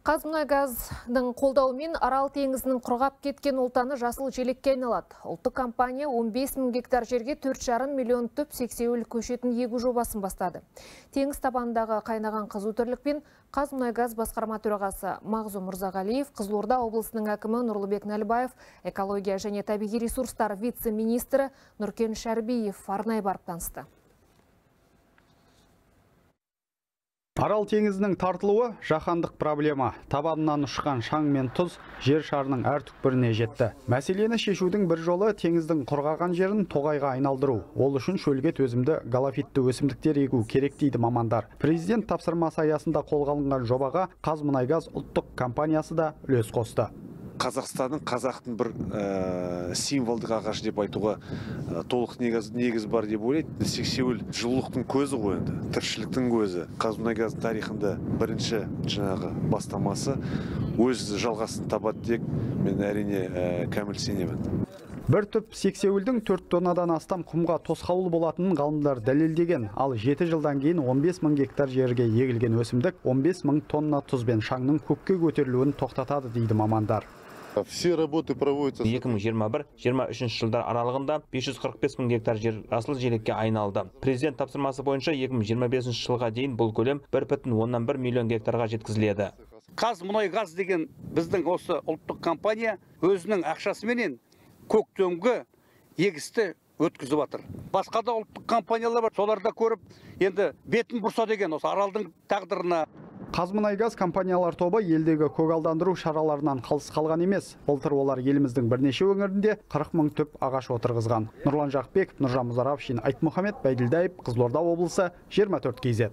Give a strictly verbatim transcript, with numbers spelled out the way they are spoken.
Қазмұнайгаздың қолдауымен Арал теңізінің құрғап кеткен олтаны жасыл желекке айналады. Ұлттық компания он бес мың гектар жерге төрт жарым миллион түп сексеуіл көшетін егу жобасын бастады. Теңіз табанындағы қайнаған қызу тірлікпен Қазмұнайгаз басқарма төрағасы Мағзұм Мырзағалиев, Қызылорда облысының әкімі Нұрлыбек Нәлібаев, экология және табиғи ресурстар вице-министрі Нұркен Шәрбиев арнайы барып танысты. Арал теңізінің тартылуы жаһандық проблема. Табанынан ұшқан шаң мен тұз жер шарының әр түкпіріне жетті. Мәселені шешудің бір жолы теңіздің құрғаған жерін тоғайға айналдыру. Ол үшін шөлге төзімді галофитті өсімдіктер егу керек дейді мамандар. Президент тапсырмасы аясында қолға алынған жобаға Қазмұнайгаз ұлттық компаниясы да үлес қосты. Қазақстанның қазақтың бір ә, символдық ағаш деп айтуға ә, толық негіз, негіз бар деп ойлайды. Сексеуіл жылулықтың көзі ғой енді, тіршіліктің көзі. Қазмұнайгаз тарихында бірінші жаңағы бастамасы өз жалғасын табады деп мен әрине ә, кәміл сенемін. Бір түп сексеуілдің төрт тоннадан астам құмға тосқауыл болатынын ғалымдар дәлелдеген. Ал жеті жылдан кейін он бес мың гектар жерге егілген өсімдік он бес мың тонна тұз бен шаңның көкке көтерілуін тоқтатады дейді мамандар. Все работы проводятся. екі мың жиырма бір жиырма үшінші жылдар аралығында бес жүз қырық бес мың гектар жер жасыл желекке айналды. Президент тапсырмасы бойынша екі мың жиырма бесінші жылға дейін бұл көлем бір бүтін оннан бір миллион гектарға жеткізіледі. Қазмұнайгаз деген біздің осы ұлттық компания өзінің ақшасыменен көктемгі егісті өткізіп жатыр. Басқа да ұлттық компаниялар бар, соларда көріп, енді бетін бұрса деген осы аралдың тағдырына. Қазмұнайгаз компаниялар тобы елдегі көгалдандыру шараларынан қалыс қалған емес. Былтыр олар еліміздің бірнеше өңірінде қырық мың түп ағаш отырғызған. Нұрлан Жақбеков, Нұржан Мұзаравшин, Айтмұхамед Байділдаев, Қызылорда облысы, жиырма төрт кей зет.